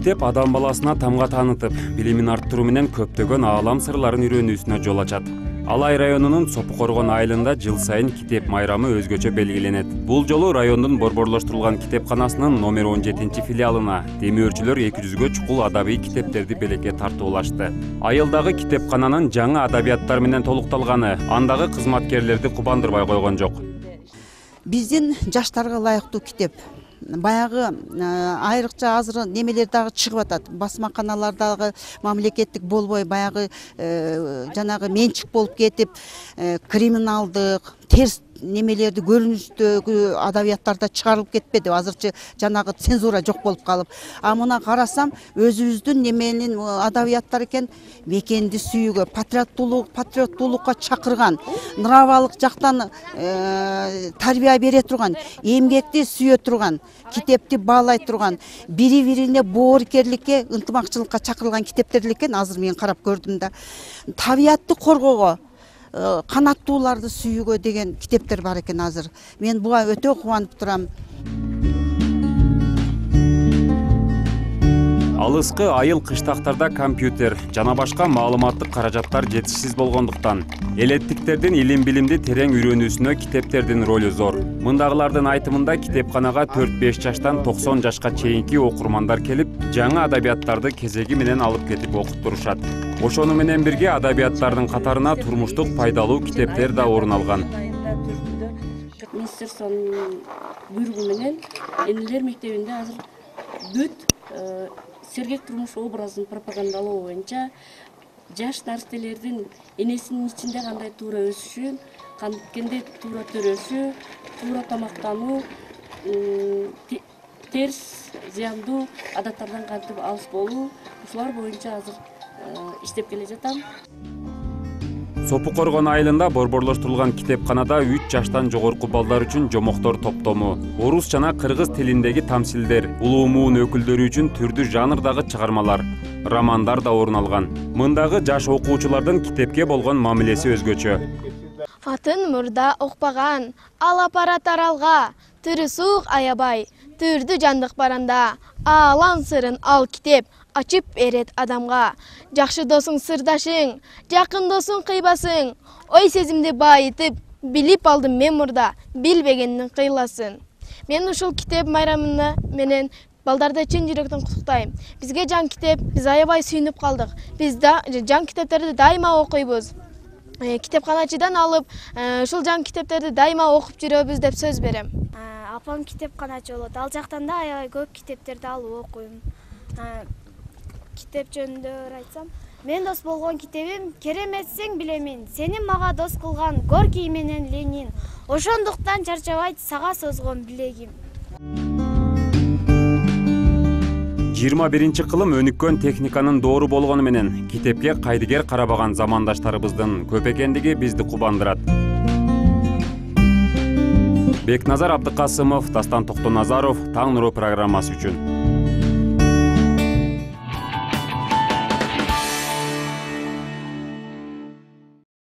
Китеп адам баласына тамга таанытып, билимин арттыруу менен көптөгөн аалам сырларын үйрөнүүсүнө жол ачат. Алай районунун Сопу Коргон айылында жыл сайын китеп майрамы өзгөчө белгиленет. Бул жолу райондун борборлоштурулган китепканасынын номер 17 филиалына демөөрчүлөр 200гө чукул адабий китептерди белекке тартуулашты. Айылдагы китепкананын жаңы адабияттар менен толукталганы андагы кызматкерлерди кубандырбай койгон жок. Биздин жаштарга ылайыктуу китеп. Баягы айрыкча азыр немелер дагы чыгып атат. Басмаканалар дагы мамлекеттик болбой баягы жанагы менчик болуп кетип, криминалдык, терс немелерди көрүнүштөгү адабияттарда чыгарылып кетпеди. Азырчы жанагы цензура жок болуп калып. А мына карасам, өзүбүздүн неменин адабияттар экен, мекенди сүйүүгө, патриоттуулукка чакырган, нравалык жактан тарбия бере турган, эмгекти сүйө турган, китепти баалай турган, бири-бирине боорукерликке, ынтымакчылыкка чакырылган китептер экен. Азыр мен карап көрдүм да. Табиятты коргоого, канаттууларды сүйүүгө деген китептер бар экен азыр. Мен буга өтө кубанып турам. Алыскы айыл кыштактарда компьютер жана башка маалыматтык каражаттар жетишсиз болгондуктан элеттиктердин илим-билимди терең үйрөнүүсүнө китептердин ролу зор. Мындагылардын айтымында китепканага 4-5 жаштан 90 жашка чейинки окурмандар келип, жаңы адабияттарды кезеги менен алып кетип окуттурушат. Ошону менен бирге адабияттардын катарына турмуштук пайдалуу китептер да орун алган. Министрликтин буйругу менен энелер мектебинде азыр бүт сергек турмуш образын пропагандалоо боюнча жаш наристелердин энесинин ичинде кандай туура өсүшү, кандай туура төрөшү, туура тамактануу, терс, зыяндуу адаттардан кантип алыс болуу, ушулар боюнча азыр иштеп келе жатам. Сопу Коргон айылында борборлоштурулган китепканада 3 жаштан жогорку балдар үчүн жомоктор топтому, орус жана кыргыз тилиндеги тамсилдер, улуу муун өкүлдөрү үчүн түрдүү жанрдагы чыгармалар, романдар да орун алган. Мындагы жаш окуучулардын китепке болгон мамилеси өзгөчө. Атын мурда окпаган, алап бара таралга, тырысуук аябай, түрдүү жандык баранда, аалам сырын ал китеп ачып берет адамга. Жакшы досуң сырдашың, жакын досуң кыйбасың. Ой сезимди байытып, билип алдым мен мурда, билбегендин кыйласын. Мен ушул китеп майрамына менен балдарды чын жүрөктөн куттуктайм. Бизге жан китеп, биз аябай сүйүнүп калдык. Биз да жан китептерди дайыма окуйбуз. Китепканачыдан алып, ушул жан китептерди дайыма окуп жүрөбүз деп сөз берем. Апам китепканачы болот. Ал жактан да аябай көп китептерди алып окуйм. Китеп жөнүндө айтсам, мен дос болгон китебим кереметсең билемин, сени мага дос кылган Горький менен Ленин. Ошондуктан чарчабайт сага созгон билегим. 21-кылым өнүккөн техниканын доору болгону менен китепке кайдыгер карабаган замандаштарыбыздын көп экендиги бизди кубандырат. Бекназар Абдыкасымов, Дастан Токтоназаров, Таң нуру программасы үчүн.